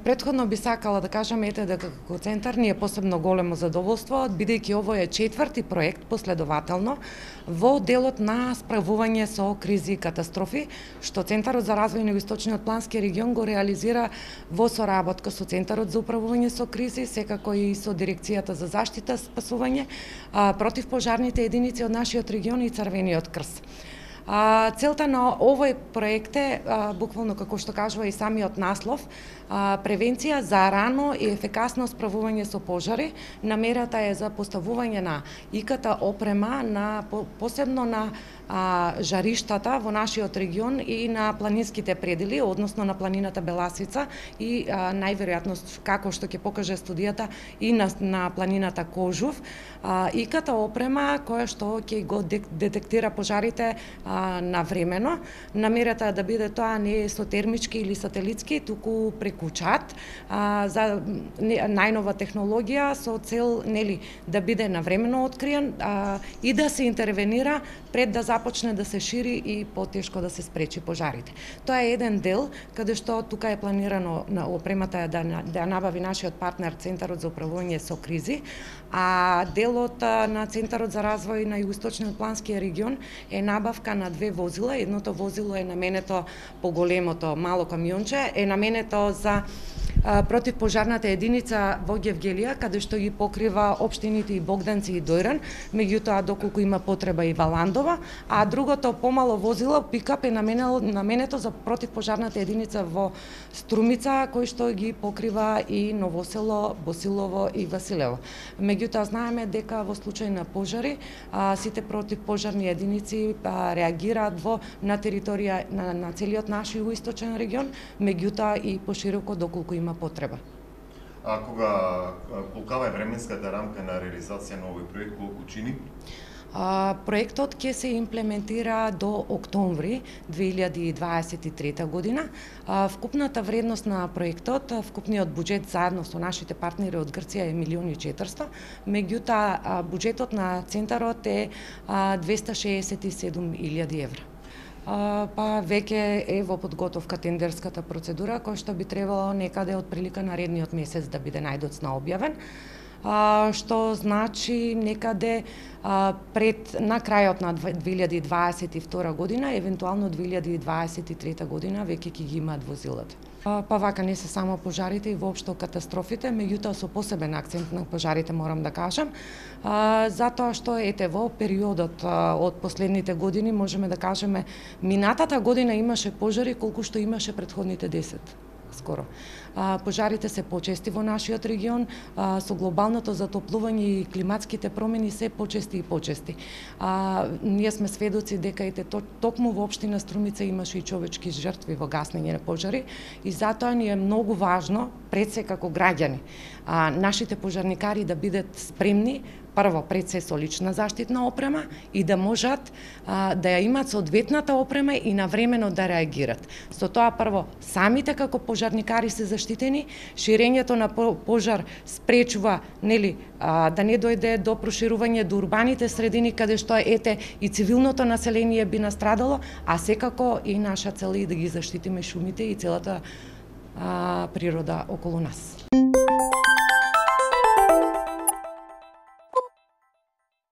Претходно би сакала да кажам дека како центар ни е посебно големо задоволство, бидејќи ово е четврти проект последователно во делот на справување со кризи и катастрофи, што Центарот за развој на Југоисточниот плански регион го реализира во соработка со Центарот за управување со кризи, секако и со Дирекцијата за заштита спасување, противпожарните единици од нашиот регион и Црвениот крст. Целта на овој проект е, буквално како што кажува и самиот наслов, превенција за рано и ефикасно справување со пожари. Намерата е за поставување на ИКТ опрема посебно на жариштата во нашиот регион и на планинските предели, односно на планината Беласица и најверојатно како што ќе покаже студијата и на планината Кожув. ИКТ опрема која што ќе го детектира пожарите навремено. Намерата е да биде тоа не со термички или сателитски, туку преку чат, за најнова технологија со цел да биде навремено откриен и да се интервенира пред да започне да се шири и потешко да се спречи пожарите. Тоа е еден дел каде што тука е планирано на опремата да набави нашиот партнер Центарот за управување со кризи, а делот на Центарот за развој на Југоисточниот плански регион е набавка на 2 возила. Едното возило е наменето, поголемото мало камионче, е наменето за противпожарната единица во Гевгелија, каде што ги покрива општините и Богданци и Дојран, меѓутоа доколку има потреба и Валандова, а другото помало возило, пикап, е наменето за противпожарната единица во Струмица, кој што ги покрива и Новосело, Босилово и Василево. Меѓутоа знаеме дека во случај на пожари, сите противпожарни единици реагираат на територија на целиот наш југоисточен регион, меѓутоа и пошироко доколку има потреба. Колкава е временската рамка на реализација на овој проект, колку чини? Проектот ќе се имплементира до октомври 2023 година. Вкупната вредност на проектот, вкупниот буџет заедно со нашите партнери од Грција е 1.400.000, меѓутоа буџетот на центарот е 267.000 евра. Веќе е во подготовка тендерската процедура, која што би требало некаде од прилика наредниот месец да биде најдоцна објавен, што значи некаде на крајот на 2022 година, евентуално 2023 година веќе ќе ги имаат возилата. Вака не се само пожарите и воопшто катастрофите, меѓутоа со посебен акцент на пожарите морам да кажам, затоа што во периодот од последните години можеме да кажеме минатата година имаше пожари колку што имаше претходните 10 скоро. Пожарите се почести во нашиот регион, со глобалното затоплување и климатските промени се почести и почести. Ние сме сведоци дека токму во општина Струмица имаше и човечки жртви во гаснење на пожари и затоа ни е многу важно, пред се како граѓани, нашите пожарникари да бидат спремни, прво пред се со лична заштитна опрема и да можат да ја имаат соодветната опрема и навремено да реагират. Со тоа прво самите како пожарникари се заштитени, ширењето на пожар спречува да не дојде до проширување до урбаните средини каде што и цивилното население би настрадало, а секако и наша цел е да ги заштитиме шумите и целата природа околу нас.